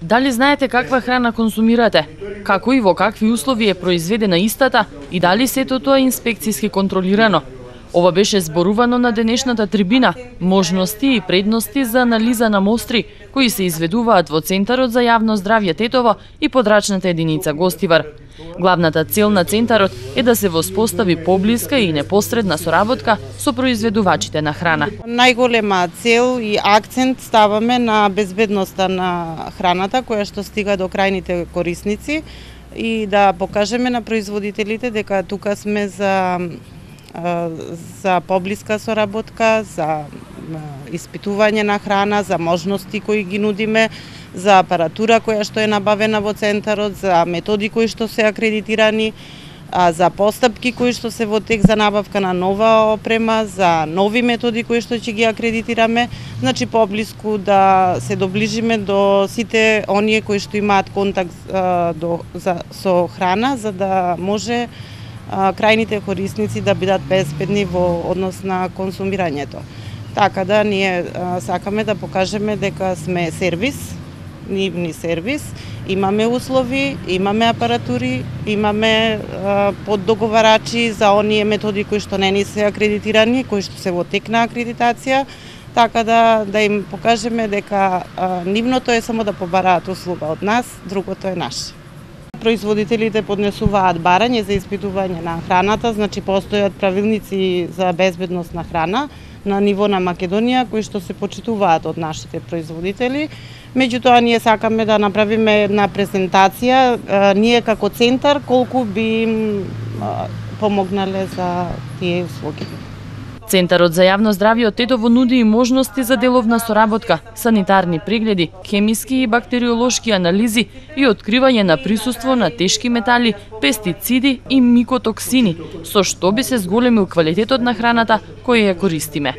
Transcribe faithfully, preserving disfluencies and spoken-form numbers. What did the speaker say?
Дали знаете каква храна консумирате? Како и во какви услови е произведена истата и дали сето тоа е инспекцијски контролирано? Ова беше зборувано на денешната трибина, можности и предности за анализа на мостри, кои се изведуваат во Центарот за јавно здравје Тетово и подрачната единица Гостивар. Главната цел на Центарот е да се воспостави поблиска и непосредна соработка со произведувачите на храна. Најголема цел и акцент ставаме на безбедноста на храната која што стига до крајните корисници и да покажеме на производителите дека тука сме за за поблиска соработка, за испитување на храна, за можности кои ги нудиме, за апаратура која што е набавена во Центарот, за методи кои што се акредитирани, за постапки кои што се во тек за набавка на нова опрема, за нови методи кои што ќе ги акредитираме, значи поблиску да се доближиме до сите оние кои што имаат контакт до, за, со храна, за да може крајните корисници да бидат безбедни во однос на консумирањето. Така да ние сакаме да покажеме дека сме сервис, нивни сервис, имаме услови, имаме апаратури, имаме поддоговарачи за оние методи кои што не ни се акредитирани, кои што се во тек на акредитација, така да да им покажеме дека нивното е само да побараат услуга од нас, другото е наше. Производителите поднесуваат барање за испитување на храната, значи постојат правилници за безбедност на храна на ниво на Македонија кои што се почитуваат од нашите производители. Меѓутоа ние сакаме да направиме една презентација ние како центар колку би им помогнале за тие услуги. Центарот за јавно здравје од Тетово нуди и можности за деловна соработка, санитарни прегледи, хемиски и бактериолошки анализи и откривање на присуство на тешки метали, пестициди и микотоксини, со што би се зголемил квалитетот на храната која ја користиме.